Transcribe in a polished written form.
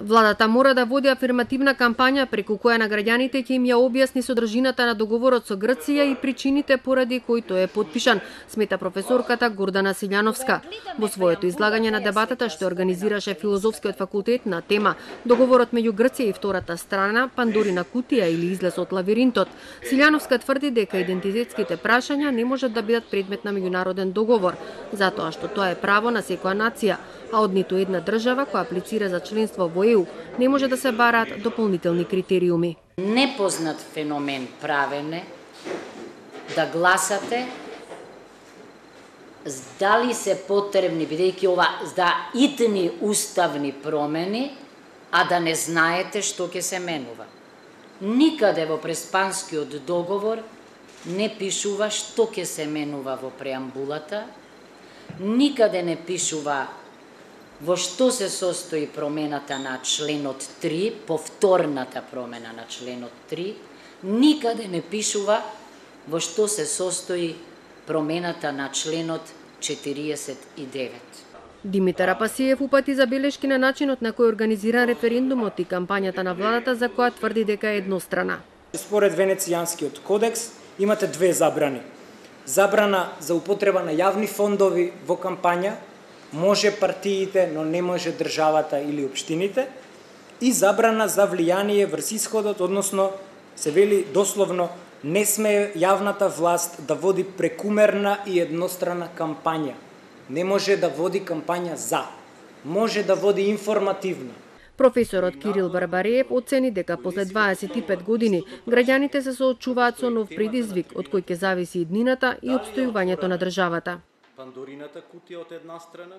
Владата мора да води афирмативна кампања преку која на граѓаните ќе им ја објасни содржината на договорот со Грција и причините поради кои тој е потпишан, смета професорката Гордана Силјановска. Во своето излагање на дебатата што организираше Филозофскиот факултет на тема Договорот меѓу Грција и втората страна, Пандорина кутија или излез од лавиринтот, Силјановска тврди дека идентитетските прашања не можат да бидат предмет на меѓународен договор, затоа што тоа е право на секоја нација, а од ниту една држава која аплицира за членство во ЕУ не може да се бараат дополнителни критериуми. Непознат феномен правене да гласате дали се потребни, бидејќи ова итни уставни промени, а да не знаете што ќе се менува. Никаде во Преспанскиот договор не пишува што ќе се менува во преамбулата, никаде не пишува во што се состои промената на членот 3, повторната промена на членот 3, никаде не пишува во што се состои промената на членот 49. Димитар Апасиев упати забелешки на начинот на кој организира референдумот и кампањата на владата за која тврди дека е еднострана. Според Венецијанскиот кодекс имате две забрани. Забрана за употреба на јавни фондови во кампања, може партиите, но не може државата или општините, и забрана за влијание врз исходот, односно се вели дословно не сме јавната власт да води прекумерна и еднострана кампања. Не може да води кампања за, може да води информативна. Професорот Кирил Барбареев оцени дека после 25 години граѓаните се соочуваат со нов предизвик од кој ќе зависи иднината и опстојувањето на државата. Пандорината кутија од една страна